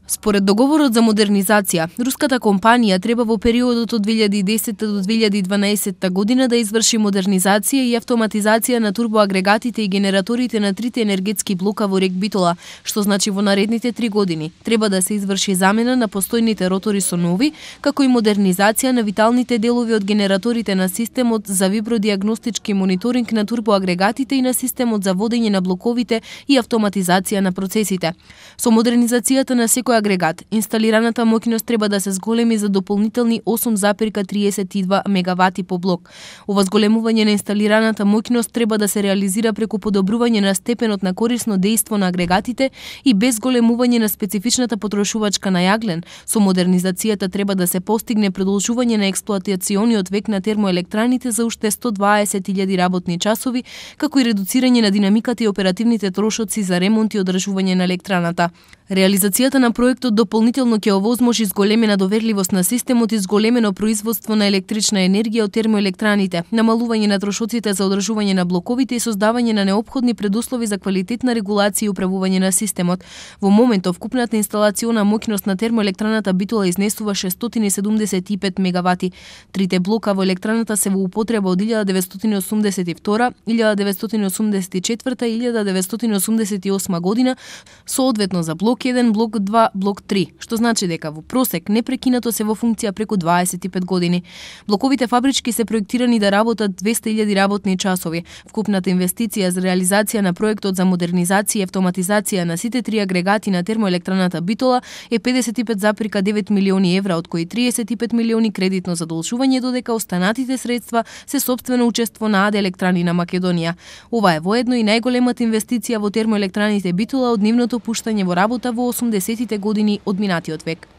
Според договорот за модернизација, руската компанија треба во периодот од 2010 до 2012 година да изврши модернизација и автоматизација на турбоагрегатите и генераторите на трите енергетски блока во РЕК Битола, што значи во наредните 3 години треба да се изврши замена на постојните ротори со нови, како и модернизација на виталните делови од генераторите на системот за вибродиагностички мониторинг на турбоагрегатите и на системот за водење на блоковите и автоматизација на процесите. Со модернизацијата на секој агрегат, инсталираната моќност треба да се зголеми за дополнителни 8,32 мегавати по блок. Ова зголемување на инсталираната моќност треба да се реализира преку подобрување на степенот на корисно дејство на агрегатите и без зголемување на специфичната потрошувачка на јаглен. Со модернизацијата треба да се постигне продолжување на експлоатациониот век на термоелектраните за уште 120.000 работни часови, како и редуцирање на динамиката и оперативните трошоци за ремонт и одржување на електраната. Реализацијата на проектот дополнително ќе овозможи зголемена доверливост на системот и зголемено производство на електрична енергија од термоелектраните, намалување на трошоците за одржување на блоковите и создавање на неопходни предуслови за квалитетна регулација и управување на системот. Во моментов вкупната инсталациона моќност на термоелектраната Битола изнесува 675 мегавати. Трите блока во електраната се во употреба од 1982, 1984 и 1988 година, соодветно за блок 1, блок 2, блок 3, што значи дека во просек непрекинато се во функција преку 25 години. Блоковите фабрички се проектирани да работат 200.000 работни часови. Вкупната инвестиција за реализација на проектот за модернизација и автоматизација на сите три агрегати на термоелектраната Битола е 55,9 милиони евра, од кои 35 милиони кредитно задолжување, додека останатите средства се сопствено учество на АД Електрани на Македонија. Ова е воедно и најголемата инвестиција во термоелектраните Битола од нивното пуштање во работа во 80-тите години од минатиот век.